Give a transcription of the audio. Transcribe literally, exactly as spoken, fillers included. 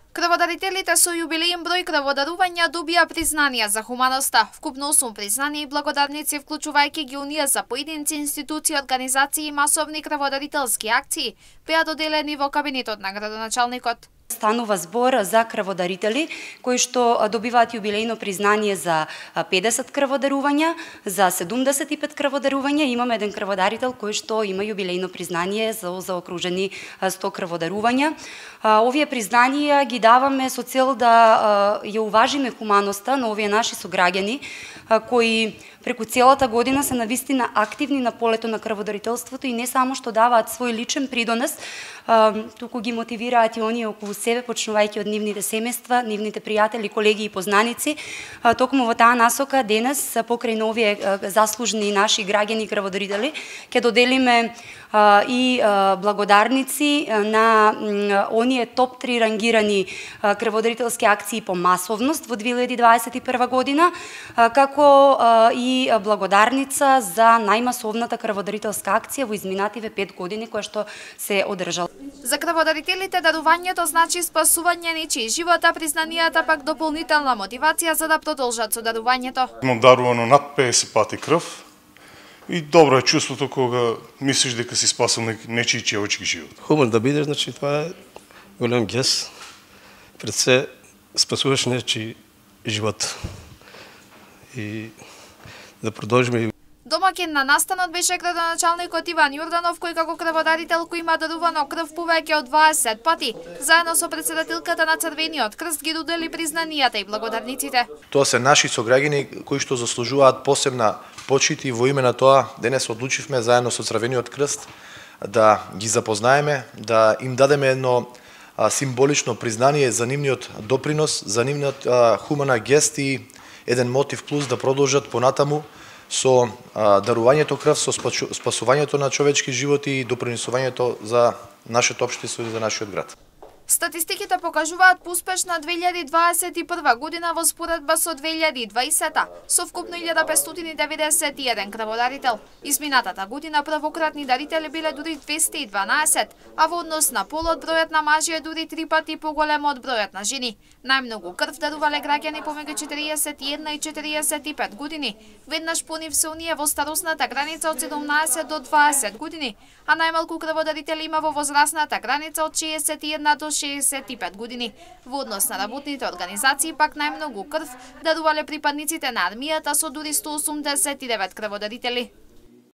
Крводарителите со јубилеен број крводарувања добија признанија за хуманоста. Вкупно осум признани и благодарници, вклучувајќи ги унија за поединци, институции, организации и масовни крводарителски акции, беа доделени во кабинетот на градоначалникот. Станува збор за крводарители кои што добиваат јубилејно признание за педесет крводарувања, за седумдесет и пет крводарувања. Имаме еден крводарител кој што има јубилејно признание за заокружени сто крводарувања. Овие признанија ги даваме со цел да ја уважиме хуманоста на овие наши сограѓани кои преку целата година се навистина активни на полето на крводарителството и не само што даваат свој личен придонес, туку ги мотивираат и оние околу себе, почнувајќи од нивните семејства, нивните пријатели, колеги и познаници. Токму во таа насока денес, покрај на овие заслужни наши граѓани крводарители, ќе доделиме и благодарници на оние топ три рангирани крводарителски акции по масовност во две илјади дваесет и прва година, како и благодарница за најмасовната крводарителска акција во изминативе пет години која што се одржала. За крводарителите дарувањето значи спасување нечии живот, а признанијата пак дополнителна мотивација за да продолжат со дарувањето. Имам дарувано над педесет пати крв и добро е чувството кога мислиш дека си спасил нечии човечки живот. Хуман да бидеш, значи това е голем гест. Пред се спасуваш нечии живот. И да продолжиме. Домаќин на настанот беше градоначалникот Иван Јорданов, кој како крводарител кој има дарувано крв повеќе од дваесет пати, заедно со претседателката на Црвениот крст ги додели признанијата и благодарниците. Тоа се наши сограѓани кои што заслужуваат посебна почит и во име на тоа денес одлучивме заедно со Црвениот крст да ги запознаеме, да им дадеме едно а, символично признание за нивниот допринос, за нивниот а, хумана гест и еден мотив плюс да продолжат понатаму со а, дарувањето крв, со спасувањето на човечки животи и допринесувањето за нашето општество и за нашиот град. Статистиките покажуваат успешна две илјади дваесет и прва година во споредба со две илјади дваесета, со вкупно илјада петстотини деветдесет и еден крводарител. Изминатата година првократни дарители биле дури двесте и дванаесет, а во однос на полот бројот на мажи е дури три пати поголем од бројот на жени. Најмногу крв дарувале граѓани помеѓу четириесет и една и четириесет и пет години, веднаш по нив се оние во старосната граница од седумнаесет до дваесет години, а најмалку крводарители има во возрастната граница од шеесет и една до шеесет и пет години. Во однос на работните организации пак најмногу крв дарувале припадниците на армијата со дури сто осумдесет и девет крводарители.